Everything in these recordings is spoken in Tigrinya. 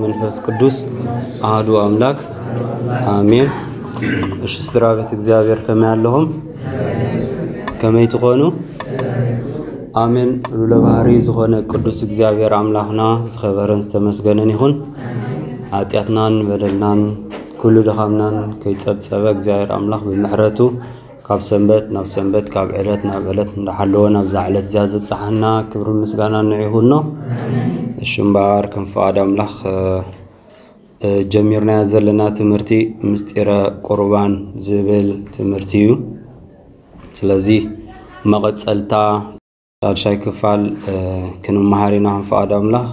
መንፈስ ቅዱስ ኣሃዱ ኣምላክ ኣሜን። እሺ ስድራ ቤት እግዚኣብሔር ከመይ ኣለኹም? ከመይ ትኾኑ? ኣሜን። ሉለ ባህሪ ዝኾነ ቅዱስ እግዚኣብሔር ኣምላኽና ዝኸበረን ዝተመስገነን ይኹን። ኃጢኣትናን በደልናን ኩሉ ድኻምናን ከይጸብጸበ እግዚኣብሔር ኣምላኽ ብምሕረቱ ካብ ሰንበት ናብ ሰንበት ካብ ዕለት ናብ ዕለት እንዳሓለወ ናብዛ ዕለት እዚኣ ዘብጽሓና ክብሪ ምስጋና ንዕኡ ይኹኖ። እሺ እምበኣር ከም ፍቓድ ኣምላኽ ጀሚርናዮ ዘለና ትምህርቲ ምስጢረ ቁርባን ዝብል ትምህርቲ እዩ። ስለዚ መቐጸልታ ሻድሻይ ክፋል ክንመሃር ኢና ከም ፍቓድ ኣምላኽ።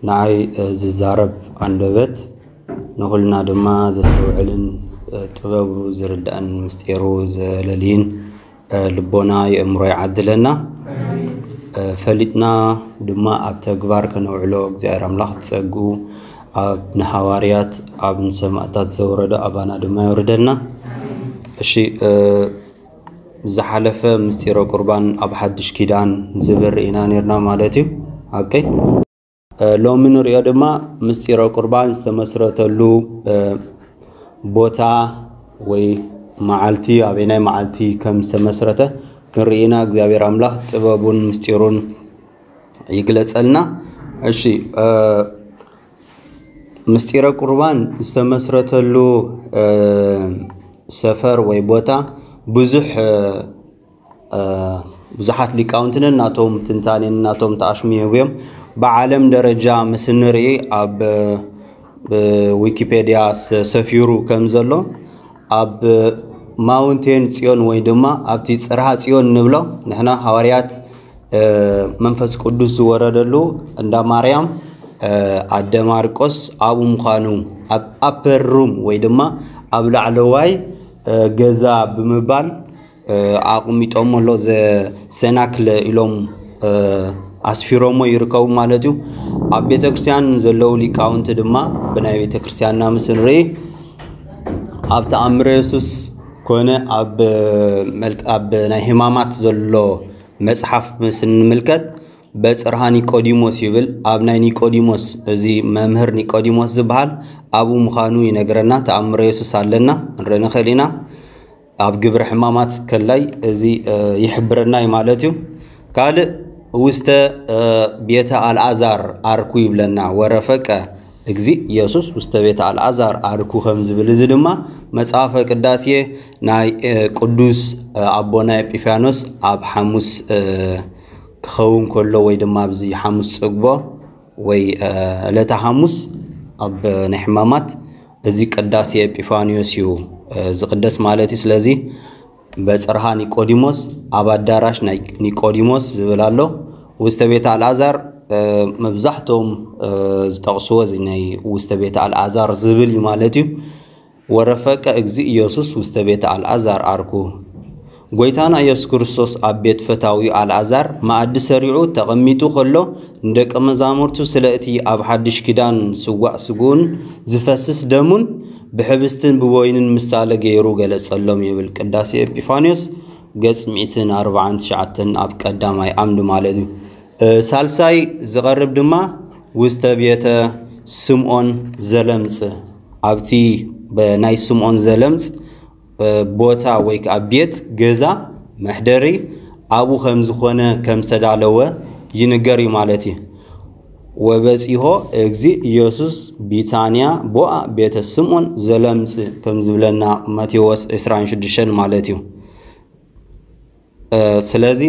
ንዓይ ዝዛረብ ኣንደበት ንኹልና ድማ ዘስተውዕልን ጥበቡ ዝርዳእን ምስጢሩ ዘለልይን ልቦና የእምሮ ይዓድለና። ፈሊጥና ድማ ኣብ ተግባር ከነውዕሎ እግዚኣብሔር ኣምላኽ ጸግኡ ኣብ ንሃዋርያት ኣብ ንሰማእታት ዘውረዶ ኣባና ድማ የውርደልና። እሺ ዝሓለፈ ምስጢረ ቁርባን ኣብ ሓድሽ ኪዳን ዝብል ርኢና ነርና ማለት እዩ። ኦኬ ሎሚ ንሪኦ ድማ ምስጢረ ቁርባን ዝተመስረተሉ ቦታ ወይ መዓልቲ ኣበናይ መዓልቲ ከም ዝተመስረተ ክንርኢ ኢና። እግዚኣብሔር ኣምላኽ ጥበቡን ምስጢሩን ይግለጸልና። እሺ ምስጢረ ቁርባን ዝተመስረተሉ ሰፈር ወይ ቦታ ብዙሕ ብዙሓት ሊቃውንቲ ነናቶም ትንታኔ ነናቶም ተኣሽሙ ይህቡ እዮም። ብዓለም ደረጃ ምስ እንርኢ ኣብ ዊኪፔድያ ሰፊሩ ከም ዘሎ ኣብ ማውንቴን ጽዮን ወይ ድማ ኣብቲ ጽርሃ ጽዮን ንብሎ ንሕና ሃዋርያት መንፈስ ቅዱስ ዝወረደሉ እንዳ ማርያም ኣደ ማርቆስ ኣብኡ ምዃኑ ኣብ ኣፐር ሩም ወይ ድማ ኣብ ላዕለዋይ ገዛ ብምባል ኣቕሚጦሞ ኣሎ። ዘሰናክለ ኢሎም ኣስፊሮሞ ይርከቡ ማለት እዩ። ኣብ ቤተክርስትያን ዘለዉ ሊቃውንቲ ድማ ብናይ ቤተክርስትያንና ምስ ንርኢ ኣብ ተኣምረ የሱስ ኮነ ኣብ ናይ ህማማት ዘሎ መጽሓፍ ምስ ንምልከት በጽርሃ ኒቆዲሞስ ይብል። ኣብ ናይ ኒቆዲሞስ እዚ መምህር ኒቆዲሞስ ዝበሃል ኣብኡ ምዃኑ ይነግረና። ተኣምረ የሱስ ኣለና ንርኢ ንኽእል ኢና። ኣብ ግብረ ሕማማት ከላይ እዚ ይሕብረና እዩ ማለት እዩ። ካልእ ውስተ ቤተ ኣልኣዛር ኣርኩ ይብለና። ወረፈቀ እግዚእ ኢየሱስ ውስተ ቤተ ኣልኣዛር ኣርኩ ከም ዝብል እዚ ድማ መጽሐፈ ቅዳሴ ናይ ቅዱስ ኣቦና ኤጲፋኖስ ኣብ ሓሙስ ክኸውን ከሎ ወይ ድማ ኣብዚ ሓሙስ ጽግቦ ወይ ዕለተ ሓሙስ ኣብ ናይ ሕማማት እዚ ቅዳሴ ኤጲፋንዮስ እዩ ዝቕደስ ማለት እዩ። ስለዚ በጽርሃ ኒቆዲሞስ ኣብ ኣዳራሽ ናይ ኒቆዲሞስ ዝብል ኣሎ። ውስተ ቤተ ኣልኣዛር መብዛሕቶም ዝጠቕስዎ እዚ ናይ ውስተ ቤተ ኣልኣዛር ዝብል እዩ ማለት እዩ። ወረፈቀ እግዚእ ኢየሱስ ውስተ ቤተ ኣልኣዛር ኣርኩ። ጎይታና ኢየሱስ ክርስቶስ ኣብ ቤት ፈታዊኡ ኣልኣዛር መኣዲ ሰሪዑ ተቐሚጡ ከሎ ንደቀ መዛሙርቱ ስለ እቲ ኣብ ሓድሽ ኪዳን ስዋእ ስግኡን ዝፈስስ ደሙን ብሕብስትን ብወይንን ምሳሌ ገይሩ ገለጸሎም ይብል ቅዳሴ ኤጲፋንዮስ ገጽ ሚእትን ኣርባዓን ትሽዓተን ኣብ ቀዳማይ ዓምዲ ማለት እዩ። ሳልሳይ ዝቐርብ ድማ ውስተ ቤተ ስምዖን ዘለምጽ ኣብቲ ናይ ስምዖን ዘለምጽ ቦታ ወይ ከዓ ቤት ገዛ መሕደሪ ኣብኡ ከም ዝኾነ ከም ዝተዳለወ ይንገር እዩ ማለት እዩ። ወበጺሖ እግዚእ ኢየሱስ ቢታንያ ቦኣ ቤተ ስምዖን ዘለምጽ ከም ዝብለና ማቴዎስ ዕስራን ሽዱሽተን ማለት እዩ። ስለዚ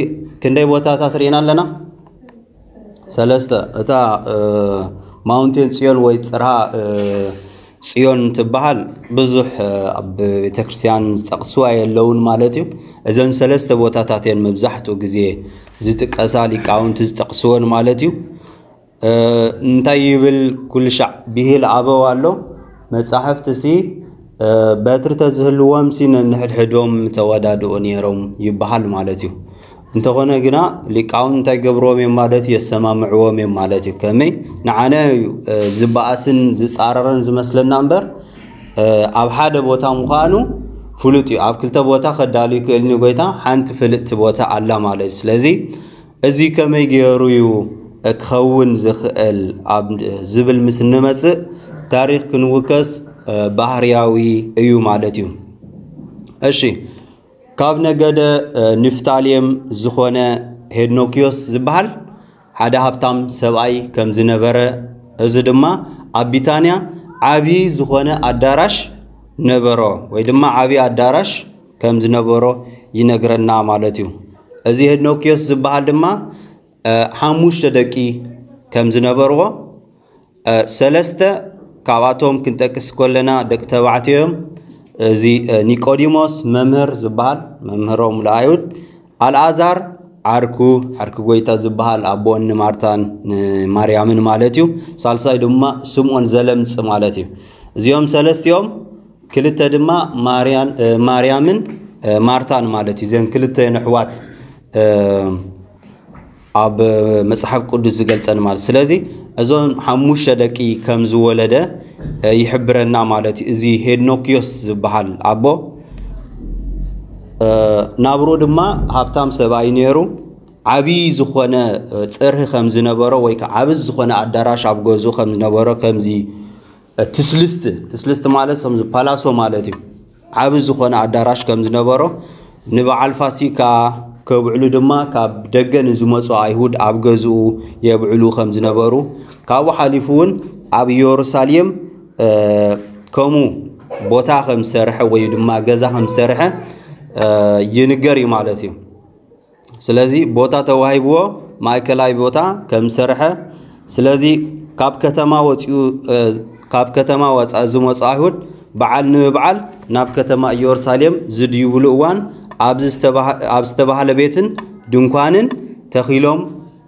ክንደይ ቦታታት ርኢና ኣለና? ሰለስተ። እታ ማውንቴን ጽዮን ወይ ጽርሃ ጽዮን ትበሃል ብዙሕ ኣብ ቤተክርስትያን ዝጠቕስዋ የለውን ማለት እዩ። እዘን ሰለስተ ቦታታት እየን መብዛሕትኡ ግዜ ዝጥቀሳ ሊቃውንቲ ዝጠቕስወን ማለት እዩ። እንታይ ይብል ኩሉ ሻዕ ብሂል ኣበው ኣሎ። መጻሕፍቲ ሲ በትሪ ተዝህልዎም ሲ ነንሕድሕዶም ተወዳድኡ ነይሮም ይበሃል ማለት እዩ። እንተኾነ ግና ሊቃውን እንታይ ገብርዎም እዮም ማለት እዩ? የሰማምዕዎም እዮም ማለት እዩ። ከመይ ንዓነ እዩ ዝበኣስን ዝጻረረን ዝመስለና እምበር ኣብ ሓደ ቦታ ምዃኑ ፍሉጥ እዩ። ኣብ ክልተ ቦታ ከዳሉ ይክእል ንጎይታ ሓንቲ ፍልጥቲ ቦታ ኣላ ማለት እዩ። ስለዚ እዚ ከመይ ገይሩ እዩ ክኸውን ዝኽእል ኣብ ዝብል ምስ እንመጽእ፣ ታሪኽ ክንውከስ ባህርያዊ እዩ ማለት እዩ። እሺ፣ ካብ ነገደ ንፍታሌም ዝኾነ ሄድኖክዮስ ዝበሃል ሓደ ሃብታም ሰብኣይ ከም ዝነበረ፣ እዚ ድማ ኣብ ቢታንያ ዓቢ ዝኾነ ኣዳራሽ ነበሮ፣ ወይ ድማ ዓቢ ኣዳራሽ ከም ዝነበሮ ይነግረና ማለት እዩ። እዚ ሄድኖክዮስ ዝበሃል ድማ ሓሙሽተ ደቂ ከም ዝነበርዎ፣ ሰለስተ ካብኣቶም ክንጠቅስ ከለና ደቂ ተባዕትዮ እዮም። እዚ ኒቆዲሞስ መምህር ዝበሃል መምህሮም ለኣይሁድ፣ ኣልኣዛር ዓርኩ ዓርኩ ጎይታ ዝበሃል ኣቦን ንማርታን ንማርያምን ማለት እዩ። ሳልሳይ ድማ ስምዖን ዘለምጽ ማለት እዩ። እዚኦም ሰለስቲኦም ክልተ ድማ ማርያን ማርያምን ማርታን ማለት እዩ። እዘን ክልተ ነሕዋት ኣብ መጽሓፍ ቅዱስ ዝገልጸን ማለት። ስለዚ እዞም ሓሙሽተ ደቂ ከም ዝወለደ ይሕብረና ማለት እዩ። እዚ ሄድኖክዮስ ዝበሃል ኣቦ ናብሮ ድማ ሃብታም ሰብኣይ ነይሩ። ዓብዪ ዝኾነ ጽርሂ ከም ዝነበሮ ወይ ከዓ ዓብዪ ዝኾነ ኣዳራሽ ኣብ ገዝኡ ከም ዝነበሮ ከምዚ ትስልስቲ ትስልስቲ ማለት ከምዚ ፓላሶ ማለት እዩ። ዓቢ ዝኾነ ኣዳራሽ ከም ዝነበሮ ንበዓል ፋሲካ ከብዕሉ ድማ ካብ ደገ ንዝመፁ ኣይሁድ ኣብ ገዝኡ የብዕሉ ከም ዝነበሩ ካብኡ ሓሊፉ እውን ኣብ ኢየሩሳሌም ከምኡ ቦታ ከም ዝሰርሐ ወይ ድማ ገዛ ከም ዝሰርሐ ይንገር እዩ ማለት እዩ። ስለዚ ቦታ ተዋሂብዎ ማእከላይ ቦታ ከም ዝሰርሐ ስለዚ ካብ ከተማ ወፂኡ ካብ ከተማ ወፃኢ ዝመፁ ኣይሁድ በዓል ንምብዓል ናብ ከተማ ኢየሩሳሌም ዝድይብሉ እዋን ኣብ ዝተባህለ ቤትን ድንኳንን ተኺሎም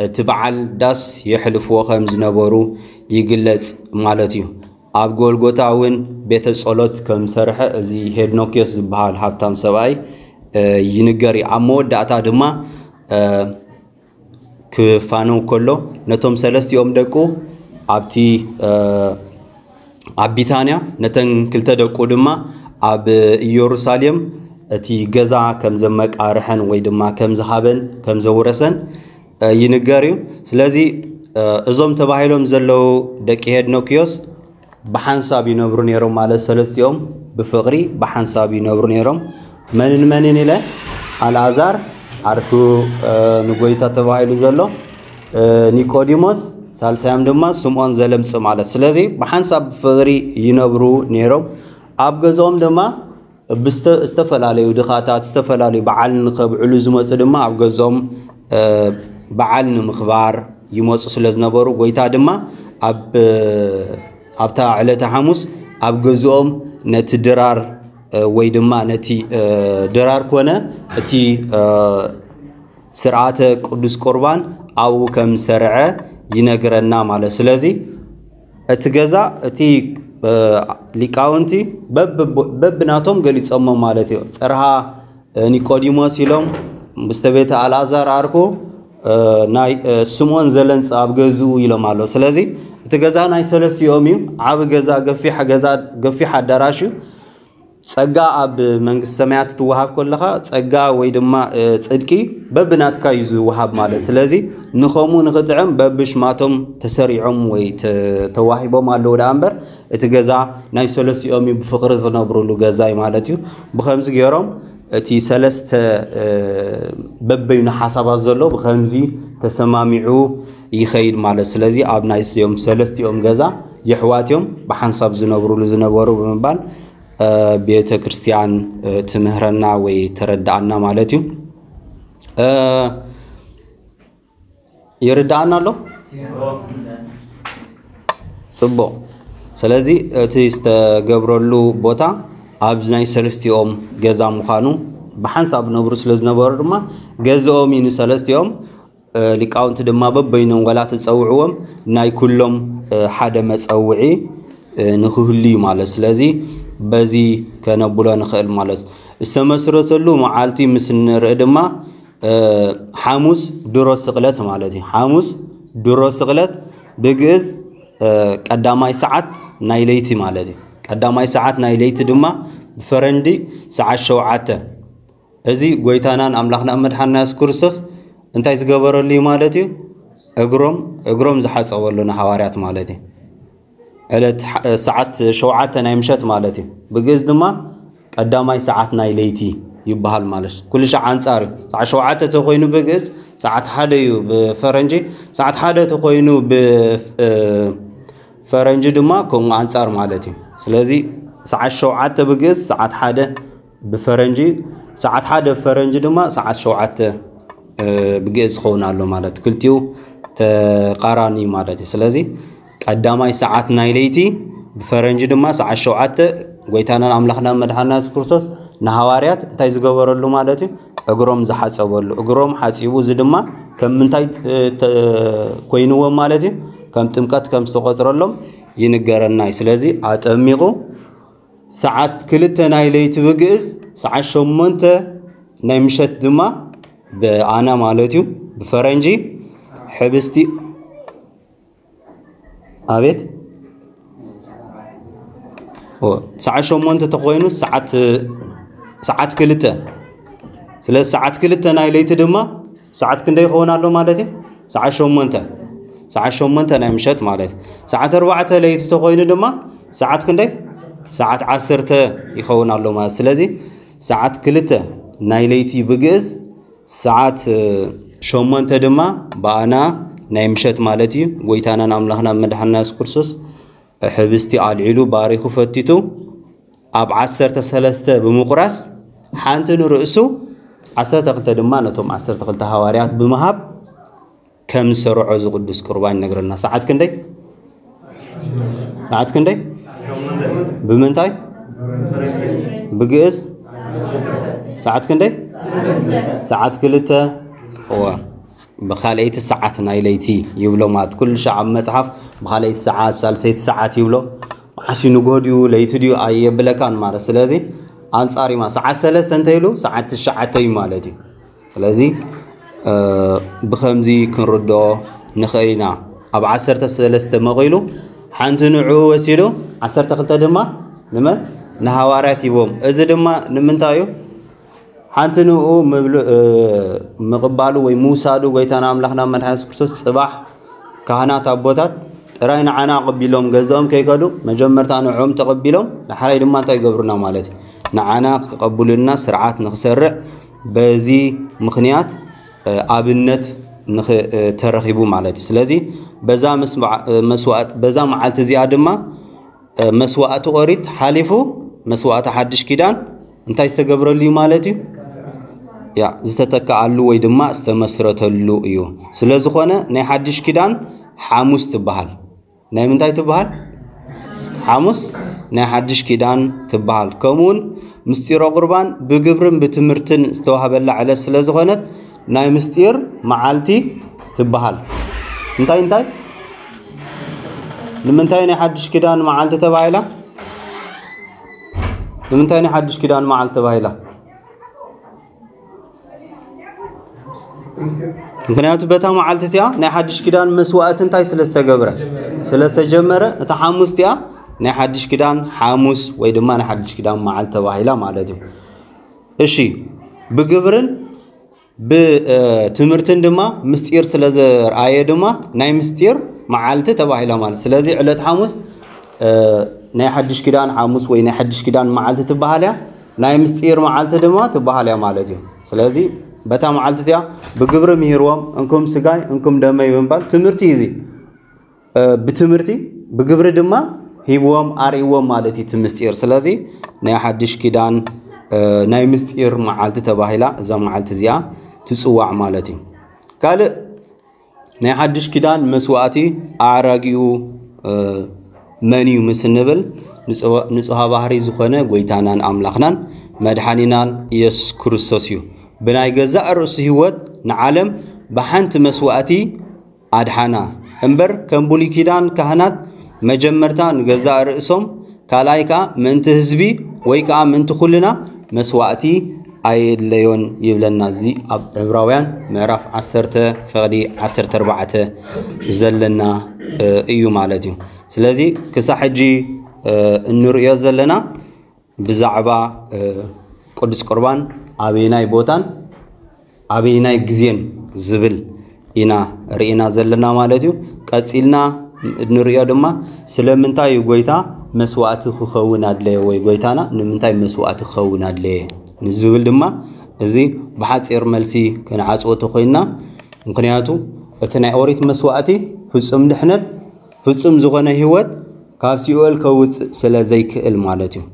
እቲ በዓል ዳስ የሕልፍዎ ከም ዝነበሩ ይግለፅ ማለት እዩ። ኣብ ጎልጎታ እውን ቤተ ጸሎት ከም ዝሰርሐ እዚ ሄድኖክዮስ ዝበሃል ሃብታም ሰብኣይ ይንገር እዩ። ኣብ መወዳእታ ድማ ክፋነው ከሎ ነቶም ሰለስቲኦም ደቁ ኣብቲ ኣብ ቢታንያ ነተን ክልተ ደቁ ድማ ኣብ ኢየሩሳሌም እቲ ገዛ ከም ዘመቃርሐን ወይ ድማ ከም ዝሃበን ከም ዘውረሰን ይንገር እዩ። ስለዚ እዞም ተባሂሎም ዘለዉ ደቂ ሄድኖክዮስ ብሓንሳብ ይነብሩ ነይሮም ማለት ሰለስቲኦም ብፍቕሪ ብሓንሳብ ይነብሩ ነይሮም። መንን መንን ኢለ ኣልኣዛር ዓርኩ ንጎይታ ተባሂሉ ዘሎ ኒቆዲሞስ ሳልሳዮም ድማ ስምዖን ዘለምጽ ማለት ስለዚ ብሓንሳብ ብፍቕሪ ይነብሩ ነይሮም። ኣብ ገዝኦም ድማ ብዝተ- ዝተፈላለዩ ድኻታት ዝተፈላለዩ በዓል ንኸብዕሉ ዝመፁ ድማ ኣብ ገዝኦም በዓል ንምኽባር ይመፁ ስለ ዝነበሩ ጎይታ ድማ ኣብ ኣብታ ዕለተ ሓሙስ ኣብ ገዝኦም ነቲ ድራር ወይ ድማ ነቲ ድራር ኮነ እቲ ስርዓተ ቅዱስ ቁርባን ኣብኡ ከም ዝሰርዐ ይነግረና ማለት ስለዚ እቲ ገዛ እቲ ሊቃውንቲ በብናቶም ገሊፆሞ ማለት እዩ። ፅርሃ ኒቆዲሞስ ኢሎም ምስተ ቤተ ኣልኣዛር ኣርኩ ናይ ስምዖን ዘለንፅ ኣብ ገዝኡ ኢሎም ኣለዉ። ስለዚ እቲ ገዛ ናይ ሰለስቲኦም እዩ። ዓብ ገዛ ገፊሕ ገዛ ገፊሕ ኣዳራሽ እዩ። ጸጋ ኣብ መንግስቲ ሰማያት ትወሃብ ከለኻ ጸጋ ወይ ድማ ጽድቂ በብናትካ እዩ ዝወሃብ ማለት። ስለዚ ንኸምኡ ንኽጥዕም በብሽማቶም ተሰሪዖም ወይ ተዋሂቦም ኣለዉ ደኣ እምበር እቲ ገዛ ናይ ሰለስቲኦም እዩ ብፍቕሪ ዝነብሩሉ ገዛ እዩ ማለት እዩ። ብኸምዚ ገይሮም እቲ ሰለስተ በበይኑ ሓሳባት ዘሎ ብኸምዚ ተሰማሚዑ ይኸይድ ማለት። ስለዚ ኣብ ናይ ስዮም ሰለስቲኦም ገዛ የሕዋት እዮም ብሓንሳብ ዝነብሩሉ ዝነበሩ ብምባል ቤተ ክርስቲያን ትምህረና ወይ ተረድኣና ማለት እዩ። ይርድኣና ኣሎ? ጽቡቕ። ስለዚ እቲ ዝተገብረሉ ቦታ ኣብ ናይ ሰለስቲኦም ገዛ ምዃኑ ብሓንሳብ ነብሩ ስለ ዝነበሩ ድማ ገዝኦም እዩ ንሰለስቲኦም። ሊቃውንቲ ድማ በበይኖም ዋላ ተጸውዕዎም ናይ ኩሎም ሓደ መጸውዒ ንክህሉ እዩ ማለት። ስለዚ በዚ ከነብሎ ንኽእል ማለት ዝተመስረተሉ መዓልቲ ምስ ንርኢ ድማ ሓሙስ ድሮ ስቕለት ማለት እዩ። ሓሙስ ድሮ ስቕለት ብግእዝ ቀዳማይ ሰዓት ናይ ለይቲ ማለት እዩ። ቀዳማይ ሰዓት ናይ ለይቲ ድማ ብፈረንዲ ሰዓት ሸውዓተ እዚ ጎይታናን ኣምላኽና መድሓንና የሱስ ክርስቶስ እንታይ ዝገበረሉ እዩ ማለት እዩ? እግሮም እግሮም ዝሓጸበሉ ንሃዋርያት ማለት እዩ። ዕለት ሓ- ሰዓት ሸውዓተ ናይ ምሸት ማለት እዩ። ብግእዝ ድማ ቀዳማይ ሰዓት ናይ ለይቲ ይበሃል ማለት እዩ። ኩሉ ሻዕ ኣንጻር እዩ። ሰዓት ሸውዓተ ተኮይኑ ብግእዝ ሰዓት ሓደ እዩ ብፈረንጂ፣ ሰዓት ሓደ ተኮይኑ ብፈረንጂ ድማ ከምኡ ኣንጻር ማለት እዩ። ስለዚ ሰዓት ሸውዓተ ብግእዝ ሰዓት ሓደ ብፈረንጂ፣ ሰዓት ሓደ ብፈረንጂ ድማ ሰዓት ሸውዓተ ብግእዝ ዝኸውን ኣሎ ማለት ክልቲኡ ተቃራኒ ማለት እዩ። ስለዚ ቀዳማይ ሰዓት ናይ ለይቲ ብፈረንጂ ድማ ሰዓት ሸውዓተ ጎይታናን ኣምላኽናን መድሓና የሱስ ክርስቶስ ንሃዋርያት እንታይ ዝገበረሉ ማለት እዩ? እግሮም ዝሓጸበሉ። እግሮም ሓጺቡ፣ እዚ ድማ ከም ምንታይ ኮይንዎም ማለት እዩ? ከም ጥምቀት ከም ዝተቆጽረሎም ይንገረና እዩ። ስለዚ ኣጠሚቑ ሰዓት ክልተ ናይ ለይቲ ብግእዝ፣ ሰዓት ሸሞንተ ናይ ምሸት ድማ ብኣና ማለት እዩ፣ ብፈረንጂ ሕብስቲ ኣቤት ሰዓት ሸሞንተ ተኮይኑ ሰዓት ክልተ። ስለዚ ሰዓት ክልተ ናይ ለይቲ ድማ ሰዓት ክንደይ ይኸውን ኣሎ ማለት እዩ? ሰዓት ሸሞንተ፣ ሰዓት ሸሞንተ ናይ ምሸት ማለት እዩ። ሰዓት ኣርባዕተ ለይቲ ተኮይኑ ድማ ሰዓት ክንደይ? ሰዓት ዓሰርተ ይኸውን ኣሎ ማለት። ስለዚ ሰዓት ክልተ ናይ ለይቲ ብግእዝ፣ ሰዓት ሸሞንተ ድማ ብኣና ናይ ምሸት ማለት እዩ። ጎይታናን ኣምላኽና መድሓንና የሱስ ክርስቶስ ሕብስቲ ኣልዒሉ ባሪኹ ፈቲቱ ኣብ ዓሰርተ ሰለስተ ብምቑራስ ሓንቲ ንርእሱ ዓሰርተ ክልተ ድማ ነቶም ዓሰርተ ክልተ ሃዋርያት ብምሃብ ከም ዝሰርዖ እዚ ቅዱስ ቁርባን ይነግረና። ሰዓት ክንደይ? ሰዓት ክንደይ? ብምንታይ? ብግእዝ ሰዓት ክንደይ? ሰዓት ክልተ። እወ፣ ብኻልኣይቲ ሰዓት ናይ ለይቲ ይብሎ ማለት ኩሉ ሻዕ ኣብ መጽሓፍ ብኻልኣይቲ ሰዓት፣ ሳልሰይቲ ሰዓት ይብሎ። መዓስ እዩ ንግሆ ድዩ ለይቲ ድዩ ኣየብለካን ማለት። ስለዚ ኣንጻር እዩ ማለት ሰዓት ሰለስተ እንተይሉ ሰዓት ትሽዓተ እዩ ማለት እዩ። ስለዚ ብኸምዚ ክንርድኦ ንኽእል ኢና። ኣብ ዓሰርተ ሰለስተ መቒሉ ሓንቲ ንዕኡ ወሲዱ ዓሰርተ ክልተ ድማ ንመን? ንሃዋርያት ሂቦም። እዚ ድማ ንምንታይ እዩ? ሓንቲ ንኡ ምብሉ ምቕባሉ ወይ ምውሳዱ ጎይታና ኣምላኽና መድሓኒ የሱስ ክርስቶስ ጽባሕ ካህናት ኣቦታት ጥራይ ንዓና ኣቐቢሎም ገዛኦም ከይከዱ መጀመርታ ንዕኦም ተቐቢሎም ዳሕራይ ድማ እንታይ ይገብሩና ማለት እዩ? ንዓና ክቐብሉልና ስርዓት ንኽሰርዕ በዚ ምኽንያት ኣብነት ተረኺቡ ማለት እዩ። ስለዚ በዛ መስዋዕት በዛ መዓልቲ እዚኣ ድማ መስዋእቲ ኦሪት ሓሊፉ መስዋእቲ ሓድሽ ኪዳን እንታይ ዝተገብረሉ እዩ ማለት እዩ? ያ ዝተተከኣሉ ወይ ድማ ዝተመስረተሉ እዩ። ስለዝኾነ ናይ ሓድሽ ኪዳን ሓሙስ ትበሃል። ናይ ምንታይ ትበሃል? ሓሙስ ናይ ሓድሽ ኪዳን ትበሃል። ከምኡውን ምስጢረ ቁርባን ብግብርን ብትምህርትን ዝተዋህበላ ዕለት ስለዝኾነት ናይ ምስጢር መዓልቲ ትበሃል። እንታይ እንታይ? ንምንታይ ናይ ሓድሽ ኪዳን መዓልቲ ተባሂላ? ንምንታይ ናይ ሓድሽ ኪዳን መዓልቲ ተባሂላ? ምክንያቱ በታ መዓልቲ እቲኣ ናይ ሓድሽ ኪዳን መስዋእቲ እንታይ ስለ ዝተገብረ ስለ ዝተጀመረ እታ ሓሙስ እቲኣ ናይ ሓድሽ ኪዳን ሓሙስ ወይ ድማ ናይ ሓድሽ ኪዳን መዓልቲ ተባሂላ ማለት እዩ። እሺ፣ ብግብርን ብትምህርትን ድማ ምስጢር ስለ ዘርኣየ ድማ ናይ ምስጢር መዓልቲ ተባሂላ ማለት። ስለዚ ዕለት ሓሙስ ናይ ሓድሽ ኪዳን ሓሙስ ወይ ናይ ሓድሽ ኪዳን መዓልቲ ትበሃል እያ። ናይ ምስጢር መዓልቲ ድማ ትበሃል እያ ማለት እዩ። ስለዚ በታ መዓልቲ እቲኣ ብግብሪ ምሂርዎም እንኩም ስጋይ እንኩም ደመይ ብምባል ትምህርቲ እዩ እዚ። ብትምህርቲ ብግብሪ ድማ ሂብዎም ኣርእይዎም ማለት እዩ እቲ ምስጢር። ስለዚ ናይ ሓድሽ ኪዳን ናይ ምስጢር መዓልቲ ተባሂላ እዛ መዓልቲ እዚኣ ትፅዋዕ ማለት እዩ። ካልእ ናይ ሓድሽ ኪዳን መስዋእቲ ኣዕራጊኡ መን እዩ ምስ እንብል ንፅዋ- ንፁሃ ባህሪ ዝኾነ ጎይታናን ኣምላኽናን መድሓኒናን ኢየሱስ ክርስቶስ እዩ። ብናይ ገዛእ ርእሱ ህይወት ንዓለም ብሓንቲ መስዋእቲ ኣድሓና እምበር ከም ብሉይ ኪዳን ካህናት መጀመርታ ንገዛእ ርእሶም ካልኣይ ከኣ ምእንቲ ህዝቢ ወይ ከኣ ምእንቲ ኩልና መስዋእቲ ኣየድለዮን ይብለና። እዚ ኣብ ዕብራውያን ምዕራፍ ዓሰርተ ፈቕዲ ዓሰርተ ኣርባዕተ ዘለና እዩ ማለት እዩ። ስለዚ ክሳብ ሕጂ እንርእዮ ዘለና ብዛዕባ ቅዱስ ቁርባን ኣበየናይ ቦታን ኣበየናይ ግዜን ዝብል ኢና ርኢና ዘለና ማለት እዩ። ቀጺልና ንሪኦ ድማ ስለምንታይ እዩ ጎይታ መስዋእቲ ክኸውን ኣድለየ ወይ ጎይታና ንምንታይ መስዋእቲ ክኸውን ኣድለየ ንዝብል ድማ እዚ ብሓጺር መልሲ ክንዓጽዎ ተኾይንና፣ ምኽንያቱ እቲ ናይ ኦሪት መስዋእቲ ፍጹም ድሕነት ፍጹም ዝኾነ ህይወት ካብ ሲኦል ከውፅእ ስለ ዘይክእል ማለት እዩ።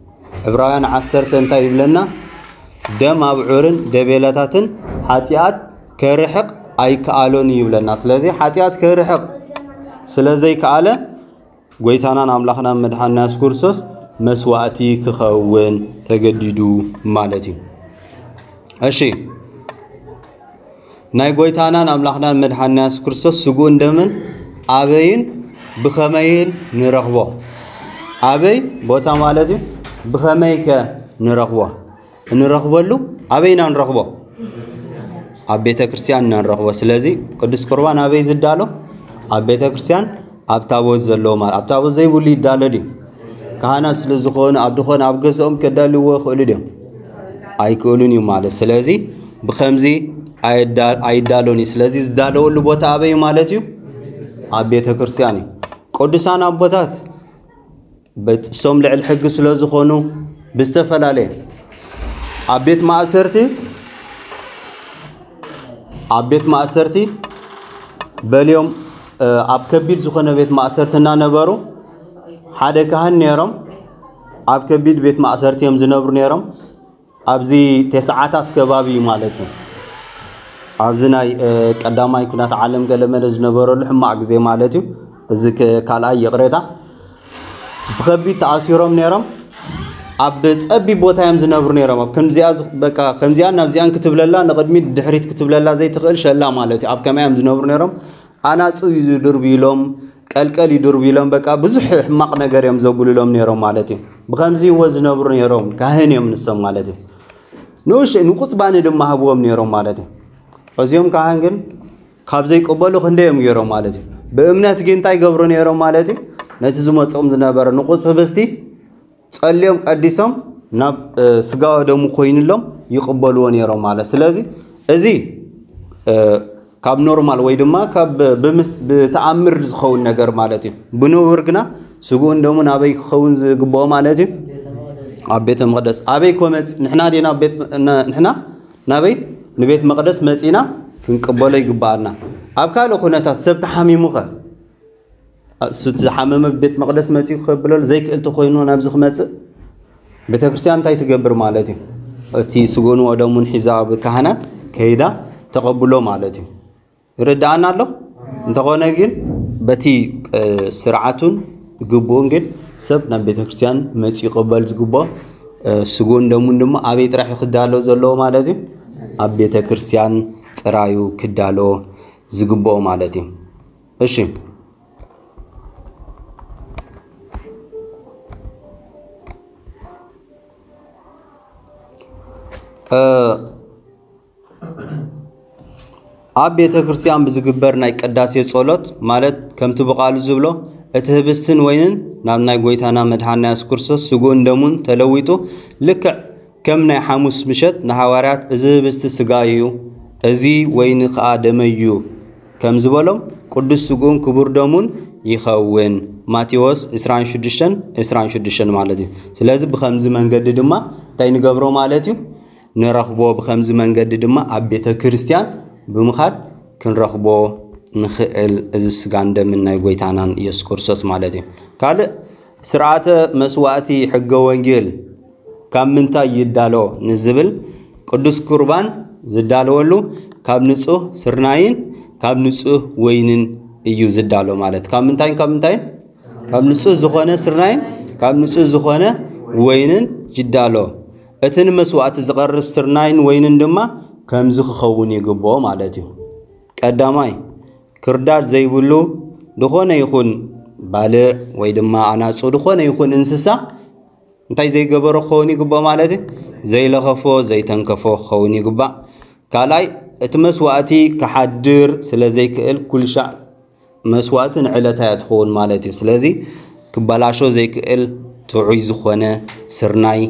ዕብራውያን ዓሰርተ እንታይ ይብለና? ደም ኣብዑርን ደቤላታትን ሓጢኣት ከርሕቕ ኣይከኣሎን እዩ ይብለና። ስለዚ ሓጢኣት ከርሕቕ ስለ ዘይከኣለ ጎይታናን ኣምላኽናን መድሓንና የሱስ ክርስቶስ መስዋእቲ ክኸውን ተገዲዱ ማለት እዩ። እሺ፣ ናይ ጎይታናን ኣምላኽናን መድሓንና የሱስ ክርስቶስ ስግኡን ደምን ኣበይን ብኸመይን ንረኽቦ? ኣበይ ቦታ ማለት እዩ። ብኸመይ ከ ንረኽቦ? እንረኽበሉ ኣበይ ኢና ንረኽቦ? ኣብ ቤተ ክርስቲያን ኢና ንረኽቦ። ስለዚ ቅዱስ ቁርባን ኣበይ ዝዳሎ? ኣብ ቤተ ክርስቲያን፣ ኣብ ታቦት ዘለዎ ማለት። ኣብ ታቦት ዘይብሉ ይዳሎ ድዩ? ካህናት ስለ ዝኾኑ ኣብ ድኾነ ኣብ ገዝኦም ከዳልዎ ይኽእሉ ድዮም? ኣይክእሉን እዩ ማለት። ስለዚ ብኸምዚ ኣይዳ- ኣይዳሎን እዩ። ስለዚ ዝዳለወሉ ቦታ ኣበይ ማለት እዩ? ኣብ ቤተ ክርስቲያን እዩ። ቅዱሳን ኣቦታት በጥሶም ልዕል ሕጊ ስለ ዝኾኑ ብዝተፈላለየ ኣብ ቤት ማእሰርቲ ኣብ ቤት ማእሰርቲ በልዮም፣ እ፣ ኣብ ከቢድ ዝኾነ ቤት ማእሰርቲ እናነበሩ ሓደ ካህን ነይሮም። ኣብ ከቢድ ቤት ማእሰርቲ እዮም ዝነብሩ ነይሮም። ኣብዚ ተስዓታት ከባቢ እዩ ማለት እዩ። ኣብዚ ናይ፣ እ፣ ቀዳማይ ኩናት ዓለም ገለመለ ዝነበረሉ ሕማቕ ግዜ ማለት እዩ። እዚ ከ-፣ ካልኣይ ይቕሬታ። ብኸቢድ ተኣሲሮም ነይሮም። ኣብ ጸቢብ ቦታ እዮም ዝነብሩ ነይሮም። ኣብ ከምዚኣ ዝ-፣ በቃ ከምዚኣን ናብዚኣን ክትብለላ፣ ንቕድሚት ድሕሪት ክትብለላ ዘይትኽእል ሸላ ማለት እዩ። ኣብ ከመይ እዮም ዝነብሩ ነይሮም? ኣናጹ ይድርብዩሎም፣ ቀልቀል ይድርብዩሎም፣ በቃ ብዙሕ ሕማቕ ነገር እዮም ዘጉልሎም ነይሮም ማለት እዩ። ብኸምዚ እዎ ዝነብሩ ነይሮም፣ ካህን እዮም ንሶም ማለት እዩ። ንኡሽ ንቁጽባኒ ድማ ሃብዎም ነይሮም ማለት እዩ። እዚኦም ካህን ግን ካብ ዘይቅበሉ ክንደይ እዮም ገይሮም ማለት እዩ። ብእምነት ግን እንታይ ይገብሩ ነይሮም ማለት እዩ? ነቲ ዝመጾም ዝነበረ ንቁጽ ህብስቲ ጸልዮም ቀዲሶም ናብ፣ እ፣ ስጋ ወደሙ ኮይኑሎም ይቕበልዎ ነይሮም ማለት። ስለዚ እዚ፣ እ፣ ካብ ኖርማል ወይ ድማ ካብ ብምስ-፣ ብተኣምር ዝኸውን ነገር ማለት እዩ። ብንቡር ግና ስግኡን ደሙን ኣበይ ክኸውን ዝግብኦ ማለት እዩ? ኣብ ቤተ መቕደስ። ኣበይ ኮመጽ? ንሕና ዲና ቤት፣ ን-፣ ንሕና ናበይ? ንቤት መቕደስ መጺና ክንቅበሎ ይግብኣና። ኣብ ካልእ ኩነታት ሰብ ተሓሚሙኸ? እሱ እቲ ዝሓመመ ቤት መቕደስ መጺኡ ከብለሉ ዘይክእል ተኾይኑ ናብዚ ክመጽእ ቤተ ክርስቲያን እንታይ ትገብር ማለት እዩ? እቲ ስግኡን ወደሙን ሒዛ ኣብ ካህናት ከይዳ ተቐብሎ ማለት እዩ። ይርድኣና ኣሎ? እንተኾነ ግን በቲ፣ እ፣ ስርዓቱን ግቡኡን ግን ሰብ ናብ ቤተ ክርስቲያን መጺኡ ክቕበል ዝግብኦ፣ እ፣ ስግኡን ደሙን ድማ ኣበይ ጥራሕ ክዳሎ ዘለዎ ማለት እዩ? ኣብ ቤተ ክርስቲያን ጥራዩ ክዳሎ ዝግብኦ ማለት እዩ። እሺ። እ፣ ኣብ ቤተ ክርስቲያን ብዝግበር ናይ ቅዳሴ ጸሎት ማለት ከምቲ ብቓሉ ዝብሎ እቲ ህብስትን ወይንን ናብ ናይ ጎይታና መድሓንና የሱስ ክርስቶስ ስግኡን ደሙን ተለዊጡ ልክዕ ከም ናይ ሓሙስ ምሸት ንሃዋርያት እዚ ህብስቲ ስጋይ እዩ፣ እዚ ወይኒ ኸኣ ደመይ እዩ ከም ዝበሎም ቅዱስ ስግኡን ክቡር ደሙን ይኸውን። ማቴዎስ ዕስራን ሽዱሽተን፣ ዕስራን ሽዱሽተን ማለት እዩ። ስለዚ ብኸምዚ መንገዲ ድማ እንታይ ንገብሮ ማለት እዩ? ንረኽቦ። ብኸምዚ መንገዲ ድማ ኣብ ቤተ ክርስቲያን ብምኻድ ክንረኽቦ ንኽእል። እዚ ስጋን ደምን ናይ ጎይታናን ኢየሱስ ክርስቶስ ማለት እዩ። ካልእ ስርዓተ መስዋእቲ ሕገ ወንጌል ካብ ምንታይ ይዳሎ ንዝብል ቅዱስ ቁርባን ዝዳለወሉ ካብ ንጹህ ስርናይን ካብ ንጹህ ወይንን እዩ ዝዳሎ ማለት። ካብ ምንታይን ካብ ምንታይን? ካብ ንጹህ ዝኾነ ስርናይን ካብ ንጹህ ዝኾነ ወይንን ይዳሎ። እቲ ንመስዋእቲ ዝቐርብ ስርናይን ወይንን ድማ ከምዚ ክኸውን ይግብኦ ማለት እዩ። ቀዳማይ፣ ክርዳድ ዘይብሉ ዝኾነ ይኹን ባልዕ ወይ ድማ ኣናጹ ዝኾነ ይኹን እንስሳ እንታይ ዘይገበሮ ክኸውን ይግብኦ ማለት እዩ? ዘይለኸፎ፣ ዘይተንከፎ ክኸውን ይግባእ። ካልኣይ፣ እቲ መስዋእቲ ክሓድር ስለ ዘይክእል ኩልሻዕ መስዋእቲ ንዕለታ እያ ትኸውን ማለት እዩ። ስለዚ ክበላሾ ዘይክእል ጥዑይ ዝኾነ ስርናይ፣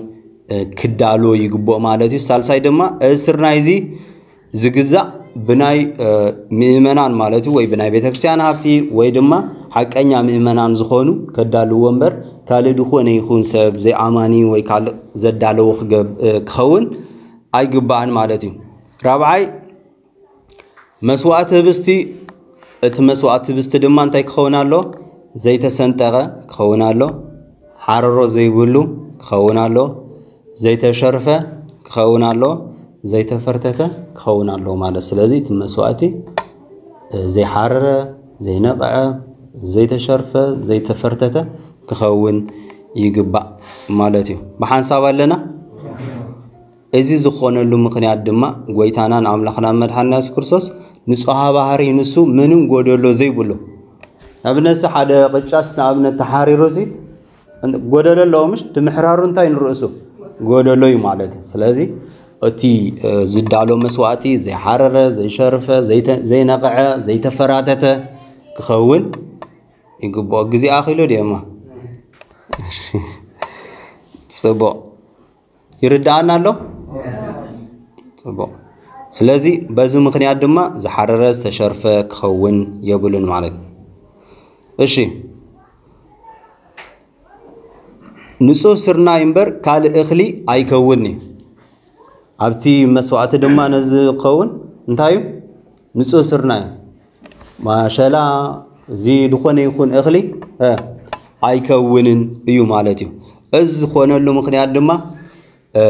እ፣ ክዳሎ ይግብኦ ማለት እዩ። ሳልሳይ ድማ እዚ ስርናይ እዚ ዝግዛእ ብናይ ምእመናን ማለት እዩ፣ ወይ ብናይ ቤተክርስትያን ሃብቲ ወይ ድማ ሓቀኛ ምእመናን ዝኾኑ ከዳልዎ እምበር ካልእ ዝኾነ ይኹን ሰብ ዘይኣማኒ ወይ ካልእ ዘዳለዎ ክገብ- ክኸውን ኣይግባእን ማለት እዩ። ራብዓይ መስዋእቲ ህብስቲ፣ እቲ መስዋእቲ ህብስቲ ድማ እንታይ ክኸውን ኣሎ? ዘይተሰንጠቐ ክኸውን ኣሎ፣ ሓረሮ ዘይብሉ ክኸውን ኣሎ፣ ዘይተሸርፈ ክኸውን ኣሎ፣ ዘይተፈርተተ ክኸውን ኣሎ ማለት። ስለዚ እቲ መስዋእቲ ዘይሓረረ፣ ዘይነቕዐ፣ ዘይተሸርፈ፣ ዘይተፈርተተ ክኸውን ይግባእ ማለት እዩ። ብሓንሳብ ኣለና። እዚ ዝኾነሉ ምኽንያት ድማ ጎይታናን ኣምላኽናን መድሓንና የሱስ ክርስቶስ ንጹሃ ባህሪ ንሱ ምንም ጎደሎ ዘይብሉ። ንኣብነት ሓደ ቅጫስ ንኣብነት ተሓሪሩ ሲ ጎደሎ ኣለዎ ምሽ? እቲ ምሕራሩ እንታይ ንርእሱ ጎደሎ እዩ ማለት እዩ። ስለዚ እቲ ዝዳሎ መስዋእቲ ዘይሓረረ፣ ዘይሸርፈ፣ ዘይተ- ዘይነቕዐ፣ ዘይተፈራተተ ክኸውን ይግብኦ። ግዜ ኣኺሉ ድየማ? ጽቡቕ። ይርድኣና ኣሎ? ጽቡቕ። ስለዚ በዚ ምኽንያት ድማ ዝሓረረ ዝተሸርፈ ክኸውን የብሉን ማለት እዩ። እሺ፣ ንጹህ ስርናይ እምበር ካልእ እኽሊ ኣይከውን'ዩ። ኣብቲ መስዋእቲ ድማ ነዚ ክኸውን እንታይ እዩ? ንጹህ ስርናይ፣ ማሸላ፣ እዚ ዝኾነ ይኹን እኽሊ እ፣ ኣይከውንን እዩ ማለት እዩ። እዚ ዝኾነሉ ምኽንያት ድማ እ፣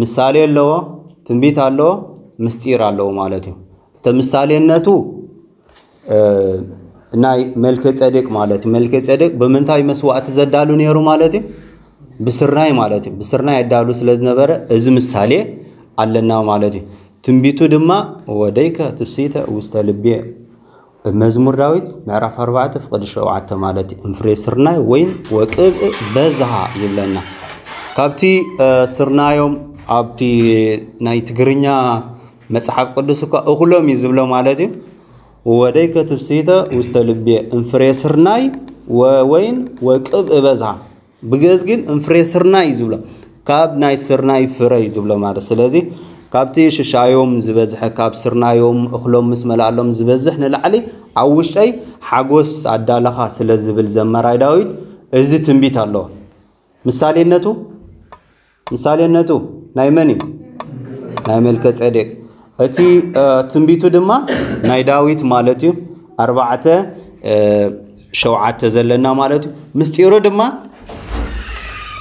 ምሳሌ ኣለዎ፣ ትንቢት ኣለዎ፣ ምስጢር ኣለዎ ማለት እዩ። እቲ ምሳሌነቱ እ፣ ናይ መልከ ጼዴቅ ማለት እዩ። መልከ ጼዴቅ ብምንታይ መስዋእቲ ዘዳሉ ነይሩ ማለት እዩ? ብስርናይ ማለት እዩ። ብስርናይ ኣዳሉ ስለ ዝነበረ እዚ ምሳሌ ኣለና ማለት እዩ። ትንቢቱ ድማ ወደይከ ትፍሲተ ውስተ ልቤ፣ መዝሙር ዳዊት ምዕራፍ ኣርባዕተ ፍቕዲ ሸውዓተ ማለት እዩ። እንፍሬ ስርናይ ወይን ወቅብእ በዝሃ ይብለና። ካብቲ እ፣ ስርናዮም ኣብቲ ናይ ትግርኛ መጽሓፍ ቅዱስ እኳ እኹሎም እዩ ዝብሎ ማለት እዩ። ወደይከ ትፍሲተ ውስተ ልቤ፣ እንፍሬ ስርናይ ወወይን ወቅብእ በዝሃ። ብግእዝ ግን እንፍሬ ስርናይ እዩ ዝብሎ፣ ካብ ናይ ስርናይ ፍረ እዩ ዝብሎ ማለት። ስለዚ ካብቲ ሽሻዮም ዝበዝሐ፣ ካብ ስርናዮም እኽሎም ምስ መላኣሎም ዝበዝሕ ንላዕሊ ኣብ ውሽጠይ ሓጎስ ኣዳለኻ ስለ ዝብል ዘመራይ ዳዊት እዚ ትንቢት ኣለዎ። ምሳሌነቱ ምሳሌነቱ ናይ መን እዩ? ናይ መልከ ጼዴቅ። እቲ እ፣ ትንቢቱ ድማ ናይ ዳዊት ማለት እዩ። ኣርባዕተ እ፣ ሸውዓተ ዘለና ማለት እዩ። ምስጢሩ ድማ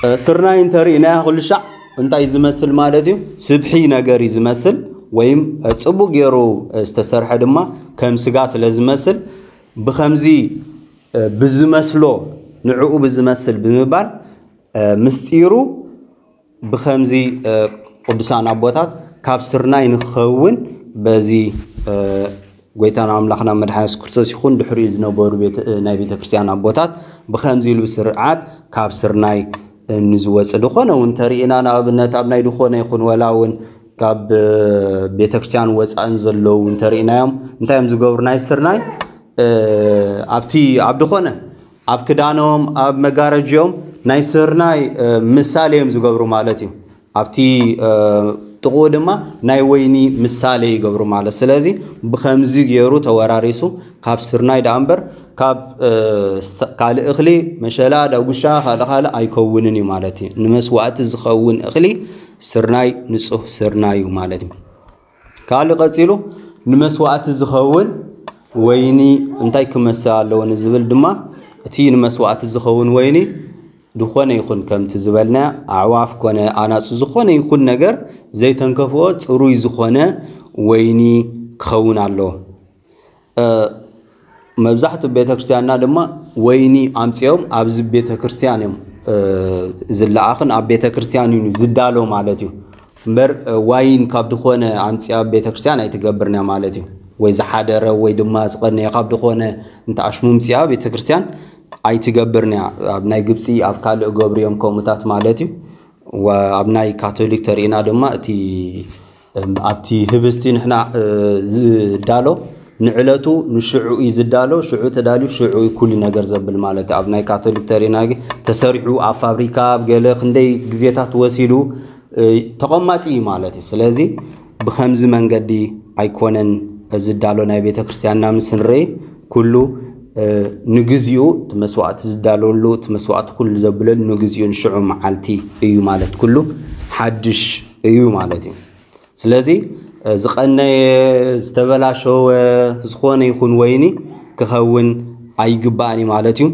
እ፣ ስርናይ እንተርኢናያ ኩሉ ሻዕ እንታይ ዝመስል ማለት እዩ? ስብሒ ነገር እዩ ዝመስል፣ ወይም እ፣ ጽቡቅ ገይሩ እ፣ ዝተሰርሐ ድማ ከም ስጋ ስለ ዝመስል ብኸምዚ እ፣ ብዝመስሎ ንዕኡ ብዝመስል ብምባል እ፣ ምስጢሩ ብኸምዚ እ፣ ቅዱሳን ኣቦታት ካብ ስርናይ ንክኸውን በዚ እ፣ ጎይታና ኣምላኽና መድሓኒ የሱስ ክርስቶስ ይኹን ድሕሪኡ ዝነበሩ ቤተ- እ፣ ናይ ቤተ ክርስቲያን ኣቦታት ብኸምዚ ኢሉ ስርዓት ካብ ስርናይ እ፣ ንዝወፅእ ድኾነ እውን ተርኢና ንኣብነት ኣብ ናይ ድኾነ ይኹን ወላ እውን ካብ እ፣ ቤተ ክርስቲያን ወፃእን ዘለዉ እውን ተርኢናዮም እንታይ እዮም ዝገብሩ ናይ ስርናይ እ፣ ኣብቲ ኣብ ድኾነ ኣብ ክዳኖም ኣብ መጋረጅኦም ናይ ስርናይ እ፣ ምሳሌ እዮም ዝገብሩ ማለት እዩ። ኣብቲ እ፣ ጥቕኡ ድማ ናይ ወይኒ ምሳሌ ይገብሩ ማለት። ስለዚ ብኸምዚ ገይሩ ተወራሪሱ ካብ ስርናይ ደኣ እምበር ካብ እ፣ ስ- ካልእ እኽሊ መሸላ፣ ዳጉሻ፣ ካልእ ካልእ ኣይከውንን እዩ ማለት እዩ። ንመስዋእቲ ዝኸውን እኽሊ ስርናይ ንጹህ ስርናይ እዩ ማለት እዩ። ካልእ ቀጺሉ ንመስዋእቲ ዝኸውን ወይኒ እንታይ ክመስል ኣለዎ ንዝብል ድማ እቲ ንመስዋእቲ ዝኸውን ወይኒ ዝኾነ ይኹን ከምቲ ዝበልና ኣዕዋፍ ኮነ ኣናጹ ዝኾነ ይኹን ነገር ዘይተንከፍኦ ጽሩይ ዝኾነ ወይኒ ክኸውን ኣለዎ። እ፣ መብዛሕትኡ ቤተክርስትያንና ድማ ወይኒ ኣምጺኦም ኣብዚ ቤተክርስትያን እዮም እ፣ ዝለኣኽን ኣብ ቤተክርስትያን እዩ ዝዳሎ ማለት እዩ። እምበር እ፣ ዋይን ካብ ዝኾነ ኣምጺኣ ቤተክርስትያን ኣይትገብርን እያ ማለት እዩ። ወይ ዝሓደረ ወይ ድማ ዝቐነየ ካብ ዝኾነ እንተ ኣሽሙምጺኣ ቤተክርስትያን ኣይትገብርን እያ። ኣብ ናይ ግብጺ ኣብ ካልእ ገብሩ እዮም ከምኡታት ማለት እዩ። ወ- ኣብ ናይ ካቶሊክ ተሪእና ድማ እቲ እም፣ ኣብቲ ህብስቲ ንሕና እ፣ ዝዳሎ ንዕለቱ ንሽዑ እዩ ዝዳሎ። ሽዑ ተዳልዩ ሽዑ እዩ ኩሉ ነገር ዘብል ማለት እዩ። ኣብ ናይ ካቶሊክ ተሪእና ግን ተሰሪሑ ኣብ ፋብሪካ ኣብ ገለ ክንደይ ግዜታት ወሲዱ እ፣ ተቐማጢ እዩ ማለት እዩ። ስለዚ ብኸምዚ መንገዲ ኣይኮነን ዝዳሎ ናይ ቤተ ክርስቲያንና ምስ ንርኢ፣ ኩሉ ንግዜኡ እቲ መስዋዕቲ ዝዳለወሉ፣ እቲ መስዋዕቲ ኩሉ ዘብለሉ ንግዜኡ፣ ንሽዑ መዓልቲ እዩ ማለት፣ ኩሉ ሓድሽ እዩ ማለት እዩ። ስለዚ ዝቐነየ፣ ዝተበላሸወ፣ ዝኾነ ይኹን ወይኒ ክኸውን ኣይግባእን እዩ ማለት እዩ።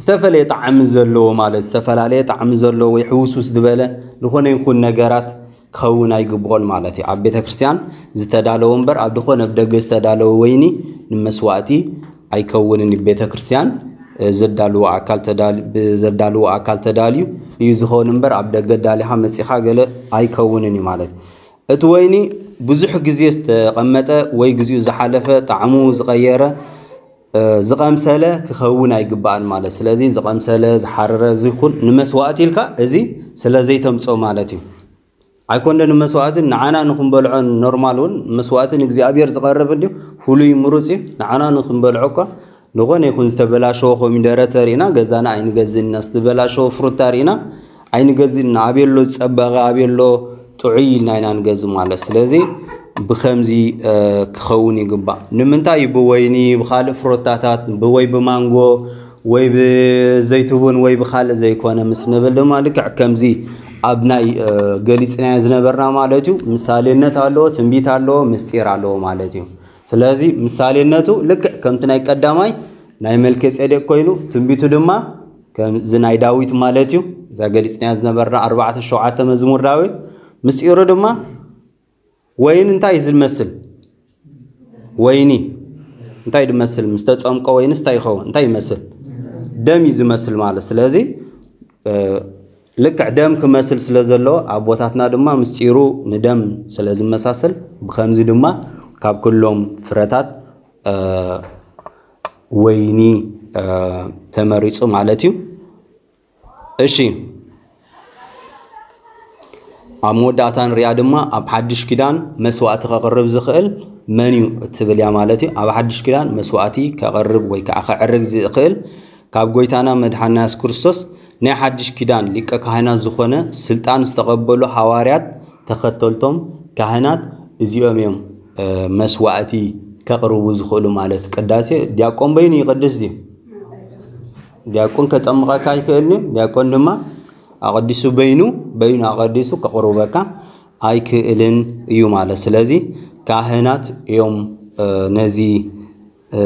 ዝተፈለየ ጣዕሚ ዘለዎ ማለት፣ ዝተፈላለየ ጣዕሚ ዘለዎ ወይ ሕውስውስ ዝበለ ዝኾነ ይኹን ነገራት ክኸውን ኣይግብኦን ማለት እዩ። ኣብ ቤተ ክርስቲያን ዝተዳለወ እምበር ኣብ ዝኾነ ብደገ ዝተዳለወ ወይኒ ንመስዋእቲ ኣይከውንን። ቤተ ክርስቲያን ዘዳልዎ ኣካል ተዳል-፣ ብዘዳልዎ ኣካል ተዳልዩ እዩ ዝኸውን እምበር፣ ኣብ ደገ ዳሊኻ መጺኻ ገለ ኣይከውንን እዩ ማለት እዩ። እቲ ወይኒ ብዙሕ ግዜ ዝተቐመጠ ወይ ግዜኡ ዝሓለፈ፣ ጣዕሙ ዝቐየረ፣ ዝቐምሰለ ክኸውን ኣይግባእን ማለት። ስለዚ ዝቐምሰለ፣ ዝሓረረ፣ እዚ ኩን ንመስዋእቲ ኢልካ እዚ ስለ ዘይተምጾ ማለት እዩ። ኣይኮንደ ንመስዋእትን ንዓና ንክንበልዖን፣ ኖርማል እውን መስዋእትን እግዚኣብሔር ዝቐርብ እንዲሁ ፍሉይ ምሩጽ እዩ። ንዓና ንክንበልዖ እኳ ዝኾነ ይኹን ዝተበላሸወ ኮሚደረ ተሪእና ገዛና ኣይንገዝእን ኢና። ዝተበላሸወ ፍሩታ ሪእና ኣይንገዝእን ኢና። ኣበየሎ ዝጸበቐ፣ ኣበየሎ ጥዑይ ኢልና ኢና ንገዝእ ማለት። ስለዚ ብኸምዚ፣ እ፣ ክኸውን ይግባእ። ንምንታይ እዩ ብወይኒ፣ ብኻልእ ፍሮታታት፣ ብወይ ብማንጎ ወይ ብዘይትቡን ወይ ብኻልእ ዘይኮነ ምስ ንብል ድማ ልክዕ ከምዚ ኣብ ናይ፣ እ፣ ገሊጽናዮ ዝነበርና ማለት እዩ። ምሳሌነት ኣለዎ፣ ትንቢት ኣለዎ፣ ምስጢር ኣለዎ ማለት እዩ። ስለዚ ምሳሌነቱ ልክዕ ከምቲ ናይ ቀዳማይ ናይ መልከ ጼዴቅ ኮይኑ፣ ትንቢቱ ድማ ከምዚ ናይ ዳዊት ማለት እዩ። እዛ ገሊጽናያ ዝነበርና ኣርባዕተ ሸውዓተ መዝሙር ዳዊት። ምስጢሩ ድማ ወይን እንታይ እዩ ዝመስል? ወይኒ እንታይ ድመስል? ምስ ተጸምቀ ወይንስ እንታይ ይኸውን? እንታይ ይመስል? ደም እዩ ዝመስል ማለት። ስለዚ፣ እ፣ ልክዕ ደም ክመስል ስለ ዘለዎ፣ ኣቦታትና ድማ ምስጢሩ ንደም ስለ ዝመሳሰል፣ ብኸምዚ ድማ ካብ ኩሎም ፍረታት፣ እ፣ ወይኒ፣ እ፣ ተመሪጹ ማለት እዩ። እሺ፣ ኣብ መወዳእታ ንሪኣ ድማ ኣብ ሓድሽ ኪዳን መስዋእቲ ከቕርብ ዝኽእል መን እዩ እትብል እያ ማለት እዩ። ኣብ ሓድሽ ኪዳን መስዋእቲ ከቕርብ ወይ ከዓ ከዕርግ ዝኽእል ካብ ጎይታና መድሓና የሱስ ክርስቶስ ናይ ሓድሽ ኪዳን ሊቀ ካህናት ዝኾነ ስልጣን ዝተቐበሉ ሃዋርያት ተኸተልቶም ካህናት እዚኦም እዮም፣ እ፣ መስዋእቲ ከቕርቡ ዝኽእሉ ማለት። ቅዳሴ ዲያቆን በይኑ ይቕድስ ድዩ? ዲያቆን ከጠምቐካ ኣይክእልን እዩ። ዲያቆን ድማ ኣቐዲሱ በይኑ፣ በይኑ ኣቐዲሱ ከቕርበካ ኣይክእልን እዩ ማለት። ስለዚ ካህናት እዮም፣ እ፣ ነዚ፣ እ፣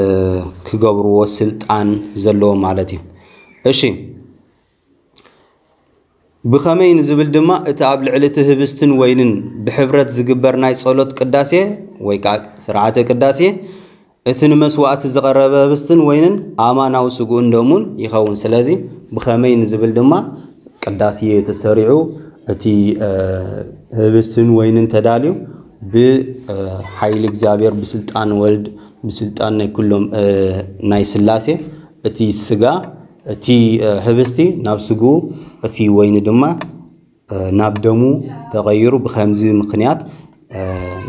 ክገብርዎ ስልጣን ዘለዎም ማለት እዩ። እሺ፣ ብኸመይ ንዝብል ድማ እቲ ኣብ ልዕሊ እቲ ህብስትን ወይንን ብሕብረት ዝግበር ናይ ጸሎት ቅዳሴ ወይ ከዓ ስርዓተ ቅዳሴ እቲ ንመስዋእቲ ዝቐረበ ህብስትን ወይንን ኣማናዊ ስግኡን ደሙን ይኸውን። ስለዚ ብኸመይ ንዝብል ድማ ቅዳሴ ተሰሪዑ እቲ፣ እ፣ ህብስትን ወይንን ተዳልዩ ብ፣ እ፣ ሓይሊ እግዚኣብሔር ብስልጣን ወልድ ብስልጣን ናይ ኩሎም፣ እ፣ ናይ ስላሴ እቲ ስጋ እቲ፣ እ፣ ህብስቲ ናብ ስግኡ እቲ ወይኒ ድማ፣ እ፣ ናብ ደሙ ተቐይሩ ብኸምዚ ምኽንያት፣ እ፣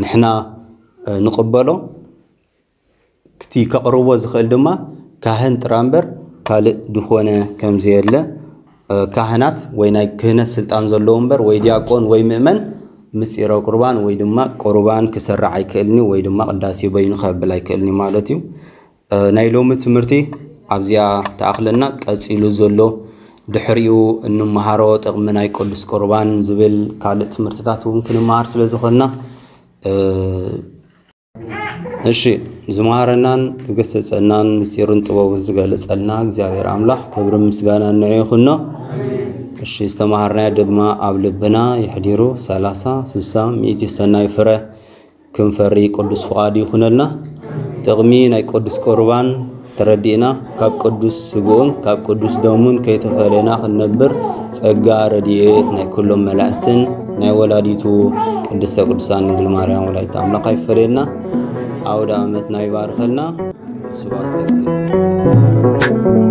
ንሕና፣ እ፣ ንቕበሎ። ክቲ ከቕርቦ ዝኽእል ድማ ካህን ጥራ እምበር ካልእ ድኾነ ከም ዘየለ፣ እ፣ ካህናት ወይ ናይ ክህነት ስልጣን ዘለዎ እምበር ወይ ዲያቆን ወይ ምእመን ምስጢረ ቁርባን ወይ ድማ ቁርባን ክሰርዕ ኣይክእልኒ ወይ ድማ ቅዳሴ በይኑ ከብል ኣይክእልኒ ማለት እዩ። እ፣ ናይ ሎሚ ትምህርቲ ኣብዚኣ ተኣኽለና። ቀጺሉ ዘሎ ድሕሪኡ እንመሃሮ ጥቕሚ ናይ ቅዱስ ቁርባን ዝብል ካልእ ትምህርትታት እውን ክንመሃር ስለ ዝኾንና፣ እ፣ እሺ፣ ዝመሃረናን ዝገሰጸናን ምስጢሩን ጥበቡን ዝገለጸልና እግዚኣብሔር ኣምላኽ ክብርን ምስጋናን ንዑ ይኹኖ። እሺ፣ ዝተመሃርናዮ ድማ ኣብ ልብና የሕዲሩ ሰላሳ፣ ስሳ፣ ሚእቲ ሰናይ ፍረ ክንፈሪ ቅዱስ ፍቓዱ ይኹነልና። ጥቕሚ ናይ ቅዱስ ቁርባን ተረዲእና፣ ካብ ቅዱስ ስግኡን ካብ ቅዱስ ደሙን ከይተፈለየና ክንነብር ጸጋ ረድኤት ናይ ኩሎም መላእክትን ናይ ወላዲቱ ቅድስተ ቅዱሳን ድንግል ማርያም ወላዲተ ኣምላኽ ኣይፈለየና። ኣውደ ዓመትና ይባርከልና። ስብሐት ለእግዚኣብሔር።